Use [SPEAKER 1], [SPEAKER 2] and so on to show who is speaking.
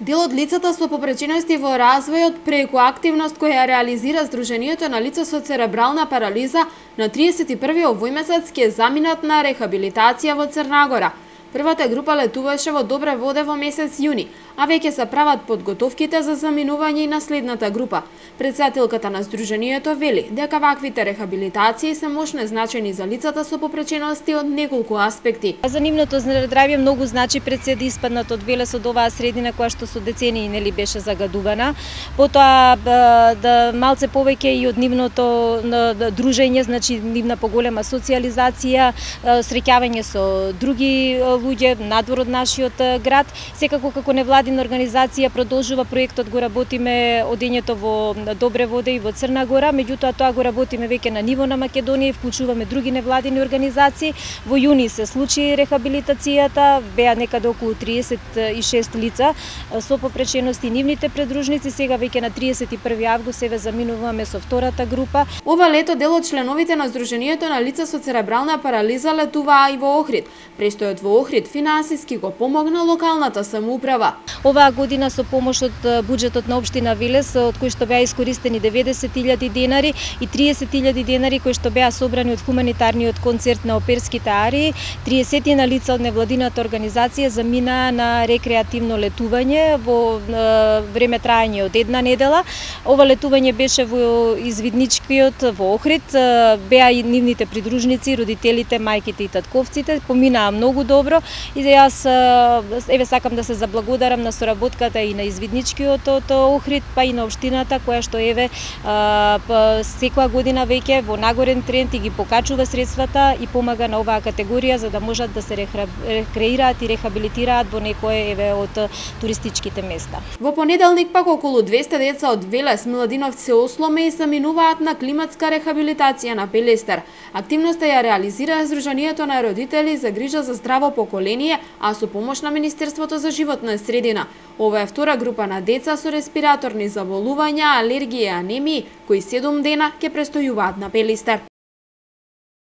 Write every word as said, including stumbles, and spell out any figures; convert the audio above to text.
[SPEAKER 1] Дел од лицата со попречености во развојот преку активност која реализира Сдруженијето на лица со церебрална парализа на триесет и први овој месец ќе заминат на рехабилитација во Црна Гора. Првата група летуваше во Добре воде во месец јуни, а веќе се прават подготовките за заминување и на следната група. Претседателката на Сдруженијето вели дека ваквите рехабилитации се мощно значени за лицата со попречености од неколку аспекти.
[SPEAKER 2] За нивното здравје многу значи пред се да испаднат од Велес од оваа средина која што со децении нели беше загадувана. Потоа да малце повеќе и од нивното дружење, значи нивна поголема социјализација, среќавање со други луѓе надвор од нашиот град. Секако како невладина организација продолжува проектот, го работиме одењето во Добре воде и во Црна Гора, меѓутоа тоа го работиме веќе на ниво на Македонија и вклучуваме други невладини организации. Во јуни се случи рехабилитацијата, беа некаде околу триесет и шест лица со попречености, нивните придружници. Сега веќе на триесет и први август еве заминуваме со втората група.
[SPEAKER 1] Ова лето дел од членовите на Сдруженијето на лица со церебрална парализа летуваа и во Охрид. Престојот во Охрид финансиски го помогна локалната самоуправа.
[SPEAKER 2] Оваа година со помош од буџетот на општина Велес, од кој што беа искористени деветдесет илјади денари и триесет илјади денари кои што беа собрани од хуманитарниот концерт на оперските арии, триесет на лица од невладината организација замина на рекреативно летување во време траење од една недела. Ова летување беше во извидничкиот во Охрид, беа и нивните придружници, родителите, мајките и татковците, поминаа многу добро и јас еве сакам да се заблагодарам на соработката и на извидничкиот од Охрид, па и на општината која што еве секоја година веќе во нагорен тренд и ги покачува средствата и помага на оваа категорија за да можат да се рекреираат и рехабилитираат во некое еве од туристичките места.
[SPEAKER 1] Во понеделник пак околу двесте деца од Велес, Миладиновци, Осломе и заминуваат на климатска рехабилитација на Пелестар. Активноста ја реализира Сдруженијето на родители за грижа за здраво поколение, а со помош на Министерството за животна средина. Ова е втора група на деца со респираторни заболувања, алергија и анемии, кои седум дена ќе престојуваат на Пелестар.